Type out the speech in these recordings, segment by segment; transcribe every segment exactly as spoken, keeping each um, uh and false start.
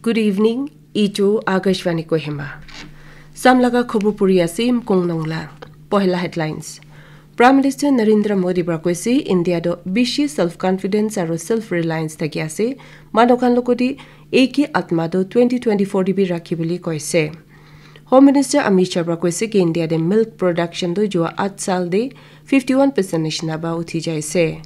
Good evening, ichu Akashvani Kohima. Samlaga khobor puri ase Mkong Nongla. Pohela headlines. Prime Minister Narendra Modi pra koise India do bishi self confidence aro self reliance thaki ase. Manu khan logodi eki atma do twenty twenty-four dibi rakhi boli koise. Home Minister Amit Shah pra koise ki India de milk production do jua at sal de fifty-one percent nishina ba uthi jaise.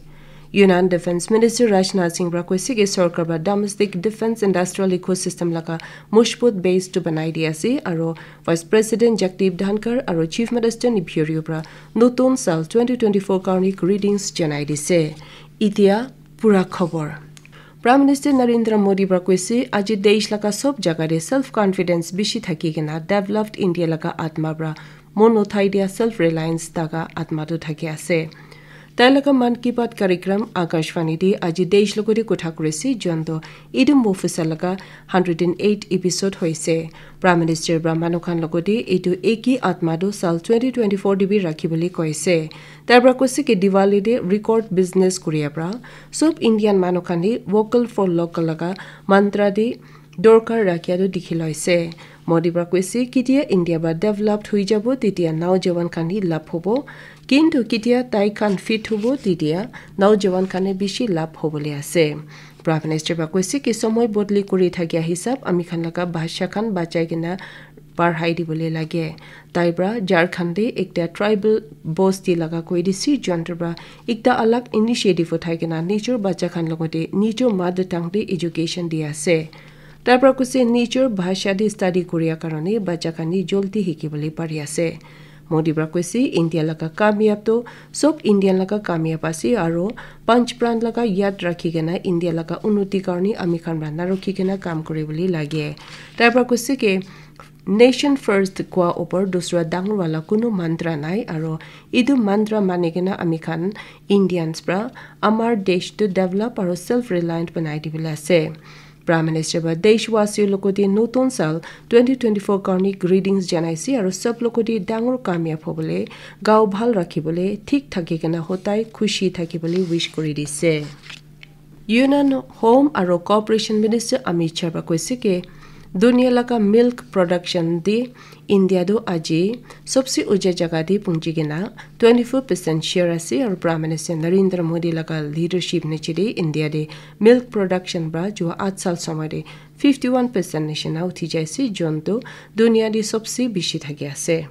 Union Defense Minister Rajnath Singh pra koise ki sorkar ba domestic defense industrial ecosystem laga mojbut base to banai di ase aro Vice President Jagdeep Dhankhar aro Chief Minister Neiphiu Rio pra notun sal twenty twenty-four karni greetings janai dise. Itia pura khobor. Prime Minister Narendra Modi pra koise aji desh laga sob jaga de self confidence bishi thaki kena developed India laga atma pra mon uthai dia self reliance daga atma tu thaki ase. Tai laga Mann Ki Baat karikram Akashvani de aji desh logodi kotha kurise, jonto idu mofisa laga hundred and eight episode hoise. Prime Minister pra manu khan logodi idu eki atma do sal twenty twenty-four dibi rakhi boli koise. Tai pra koise ki Diwali de record business kuria pra sob Indian manu khan hi vocal for local laga mantra de dorkar rakhia tu dikhi loise. Modi pra koise, ketia India ba developed hui jabo, tetia naujawan khan hi labh hobo. Kintu ketia tai khan fit hobo, tetia naujawan khan hi bishi labh hobole ase. Prime Minister pra koise ki somoy bodli kuri thakia hisab ami khan laga bhasha khan bachai kena parhai dibole lage. Tai pra Jharkhand de ekta tribal bosti laga koi dise, jonto pra ekta alag initiative uthai kena nijor bacha khan logote nijor mother tongue de education di ase. Tai pra koise nijor bhasha de study kuria karone bacha khan ni joldi hiki bole pari ase. Modi pra koise India laga kamyab to sob Indian laga kamyab ase aro panch pran laga yad rakhi kena India laga unnoti karone ami khan pra narokhi kena kam kuri bole lage. Tai pra koise ki nation first kwa upor dusra dangor wala kunu mantra nai aro idu mantra mani kena ami khan Indians pra amar desh to develop aro self reliant banai dibole ase. Prime Minister ba deshwasi logodi notun sal twenty twenty-four karni greetings janaise aro sob logodi dangor kamyab hobole, gao bhal rakhibole, thik thaki kena hotai khushi thakibole wish kuri dise. Union Home aro Cooperation Minister Amit Shah ba koise ke dunia laga milk production de India do aji sobse uja jaga de punji kena twenty-four percent share ase aro Prime Minister Narendra Modi laga leadership niche de India de milk production pra jua at sal somoi de fifty-one percent nishina uthi jaise, jonto dunia de sobse bishi thaki ase.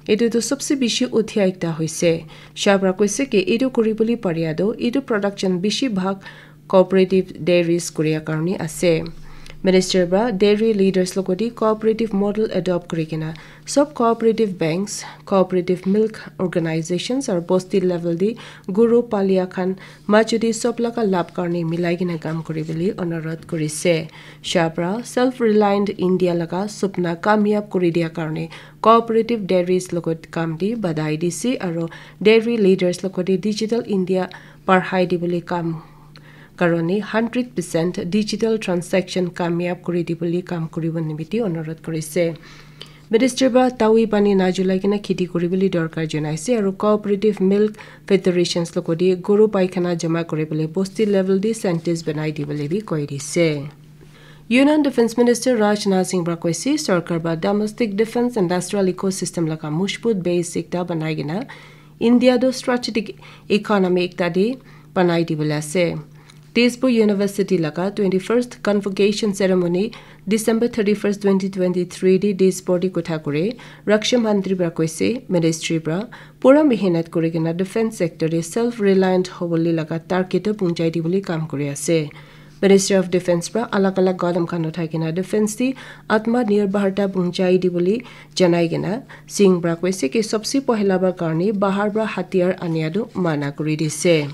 Etu tu sobse bishi uthia ekta hoise. Shah pra koise ke etu kuri bole paria tu etu production bishi bhag cooperative dairies kuria karone ase. Minister pra dairy leaders logodi cooperative model adopt kuri kena sob cooperative banks, cooperative milk organizations aro bosti level de guru palia khan majudi sob laga labh karone milai kena kam kuri bole onurodh kurise. Shah pra self reliant India laga supna kamyab kuri dia karone cooperative dairies logot kam de badai dise aro dairy leaders logote digital India parhai dibole kam karone hundred percent digital transaction kamyab kuri dibole kam kuribo nimite onurodh kurise. Minister ba tawi pani najulai kena kheti kuribole dorkar janaise aro cooperative milk federations logote guru paikhana jama kuribole bosti level de centres banai dibole bi koi dise. Union Defense Minister Rajnath Singh pra koise sorkar ba domestic defense industrial ecosystem laga mojbut base ekta banai kena India do strategic economy ekta de banai dibole ase. Tezpur University laga twenty-first convocation ceremony December thirty-first, twenty twenty-three de Tezpur de kotha kure Raksha Mantri pra koise ministry pra pura mehnat kuri kena defense sector de self reliant hobole laga target to punchai dibole kam kuri ase. Ministry of Defense pra alag alag gadam khan uthai kena defense de atma nirbharta punchai dibole janai kena Singh pra koise ki sobse pohila ba karone bahar pra hatiyar ania do mana kuri dise.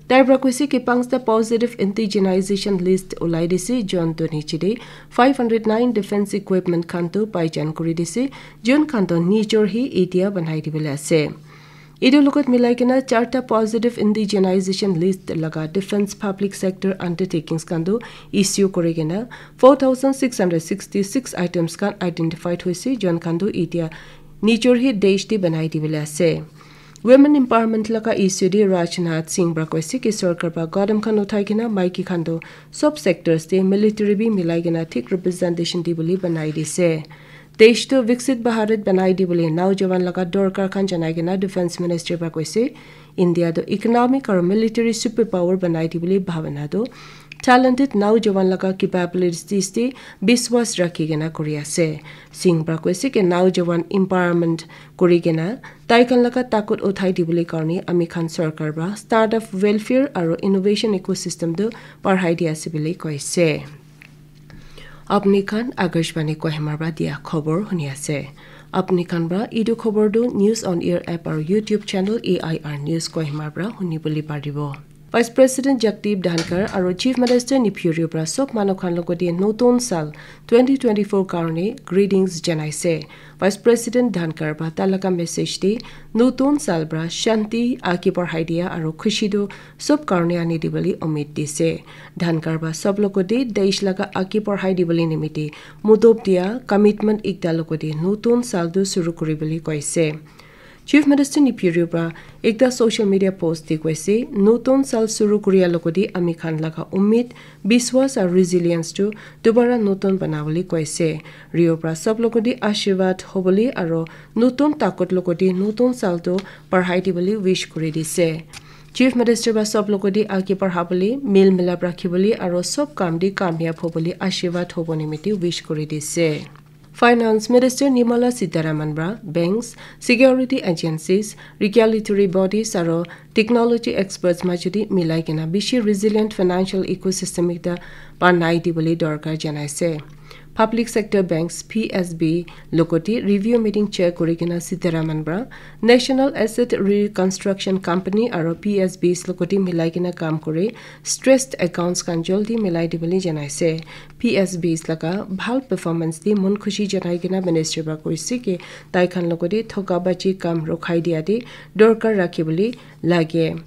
Tai pra koise ki panchta positive indigenization list ulai dise, jonto niche de five hundred nine defense equipment khan to paijan kuri dise, jun khan to nijor hi etia banai dibole ase. Etu logot milai kena charta positive indigenization list laga defense public sector undertakings khan tu issue kuri kena four thousand six hundred sixty-six items khan identified hoise, jon khan tu etia nijor hi desh te banai dibole ase. Women empowerment laga issue de Rajnath Singh pra koise ki sorkar pra kadam khan uthai kena maiki khan toh sob sectors te military bi milai kena thik representation di bole banai dise. Desh toh Viksit Bharat banai di bole naujawan laga dorkar khan janai kena Defense Ministry pra koise. India toh economic aru military superpower banai di bole bhabana toh talented naujawan laga capabilities te biswas rakhi kena kuri ase. Singh pra koise ki naujawan empowerment kuri kena tai khan laga takut uthai di bole karne ami khan sorkar pra startup welfare aru innovation ecosystem toh parhai di ase bole koise. Apni khan Akashvani Kohima pra dia khobor huni ase. Apni khan pra etu khobor tu News on Air app aru YouTube channel A I R News Kohima pra huni bole paribo. Vice President Jagdeep Dhankhar aru Chief Minister Neiphiu Rio pra sob manu khan logote notun sal twenty twenty-four karne greetings janaise. Vice President Dhankhar pra talaga message te notun sal pra shanti age barhai dia aru khushi tu sob karne ani di bole umid dise. Dhankhar pra sob logote desh laga age barhai di bole nimite mudop dia commitment ekta logote notun sal tu suru kuri bole koise. Chief Minister Neiphiu Rio pra ekta social media post te koise, notun sal suru kuria logote ami khan laga umid, biswas aru resilience tu dobara notun banabole koise. Rio pra sob logote ashirwad hobole aru notun takut logote notun sal tu parhai di bole wish kuri dise. Chief Minister pra sob logote age parhabole, mil milap rakhibole aru sob kam te kamyab hobole ashirwad hobo nimite wish kuri dise. Finance Minister Nirmala Sitharaman pra banks, security agencies, regulatory bodies aru technology experts majudi milai kena bishi resilient financial ecosystem ekta banai di bole dorkar janaise. Public sector banks P S B logote review meeting chair kuri kena Sitharaman pra National Asset Reconstruction Company aru P S Bs logote milai kena kam kuri stressed accounts khan jaldi milai di bole janaise. P S Bs laga bhal performance te mon khushi janai kena ministry pra koise ki tai khan logote thoka baji kam rukhai dia te dorkar rakhi bole lage.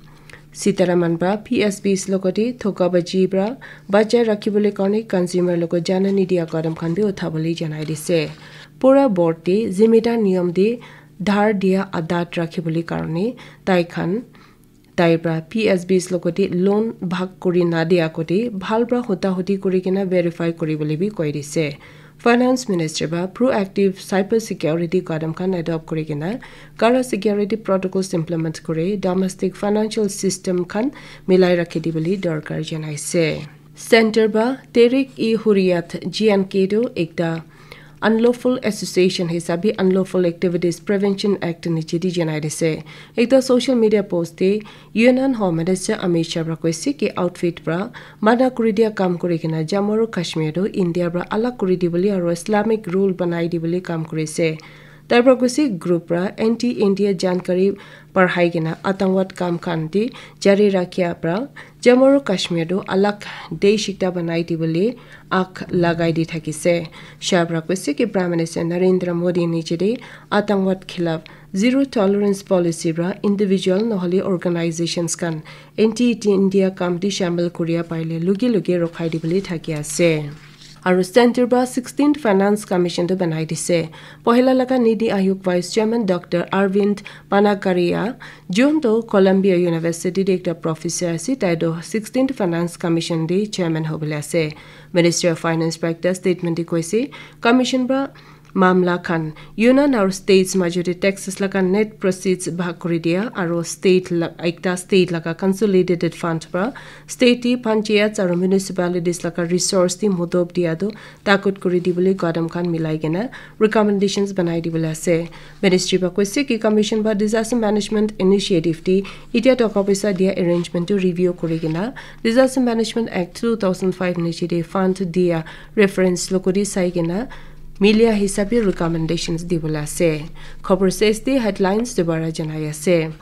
Sitharaman pra P S Bs logote thoka baji pra bachai rakhi bole karne consumer logot jana nidia kadam khan bi utha bole janai dise. Pura board te zimidar niyam te dhar dia adat rakhi bole karne tai khan tai pra P S Bs logote loan bhag kuri nadia kote bhal pra huta huti kuri kena verify kuri bole bi koi dise. Finance Minister pra proactive cyber security kadam khan adopt kuri kena kara security protocols implement kuri domestic financial system khan milai rakhi di bole dorkar janaise. Center pra Tehrik-e-Hurriyat J and K tu ekta unlawful association hisabe Unlawful Activities Prevention Act niche di janai dise. Ekta social media post te Union Home Minister Amit Shah pra koise ki outfit pra mana kuri dia kam kuri kena Jammu aru Kashmir tu India pra alag kuri di bole aru Islamic rule banai di bole kam kurise. Tai pra koise group pra anti India jankari parhai kena atangwad kam khan te jari rakhia pra Jammu aru Kashmir tu alag desh ekta banai di bole ak lagai di thakise. Shah pra koise ki Prime Minister Narendra Modi niche te atangwad khilaf zero tolerance policy pra individual nohole organizations khan anti India kam te shamil kuria paile lugi lugi rokhai di bole thaki ase. Aru center pra sixteenth Finance Commission tu banai dise. Pohila laga Niti Aayog Vice Chairman Doctor Arvind Panakaria, jun tu Columbia University te ekta professor ase, tai tu sixteenth Finance Commission te chairman hobole ase. Ministry of Finance pra ekta statement te koise, commission pra mamla khan union aru states majute taxes laga net proceeds bhag kuri dia aru state la, ekta state laga consolidated fund pra state te panchayats aru municipalities laga resource te mudop dia tu takut kuri di bole kadam khan milai kena recommendations banai di bole ase. Ministry pra koise ki commission pra disaster management initiative te itia toka paisa dia arrangement tu review kuri kena Disaster Management Act two thousand five niche te fund dia reference logote sai kena milia hisabe recommendations di bole ase. Khobor ses te headlines dobara janai ase.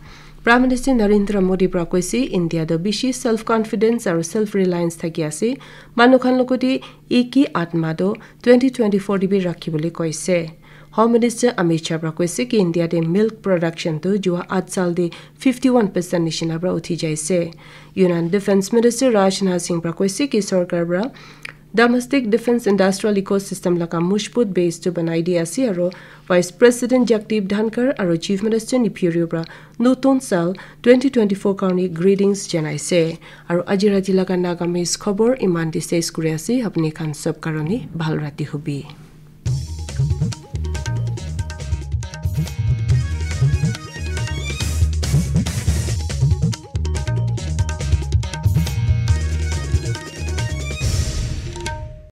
Prime Minister Narendra Modi pra koise India tu bishi self confidence aru self reliance thaki ase. Manu khan logote eki atma tu twenty twenty-four te bi rakhi bole koise. Home Minister Amit Shah pra koise ki India te milk production tu jua at sal te fifty-one percent nishina pra uthi jaise. Union Defense Minister Rajnath Singh pra koise ki sorkar pra Domestic defense industrial ecosystem laga mojbut base tu banai di ase aro Vice President Jagdeep Dhankhar aro Chief Minister Neiphiu Rio pra notun sal twenty twenty-four karni greetings janaise. Aro aji rati laga Nagamese khobor iman te ses kuri ase, apni khan sob karni bhal rati hobi.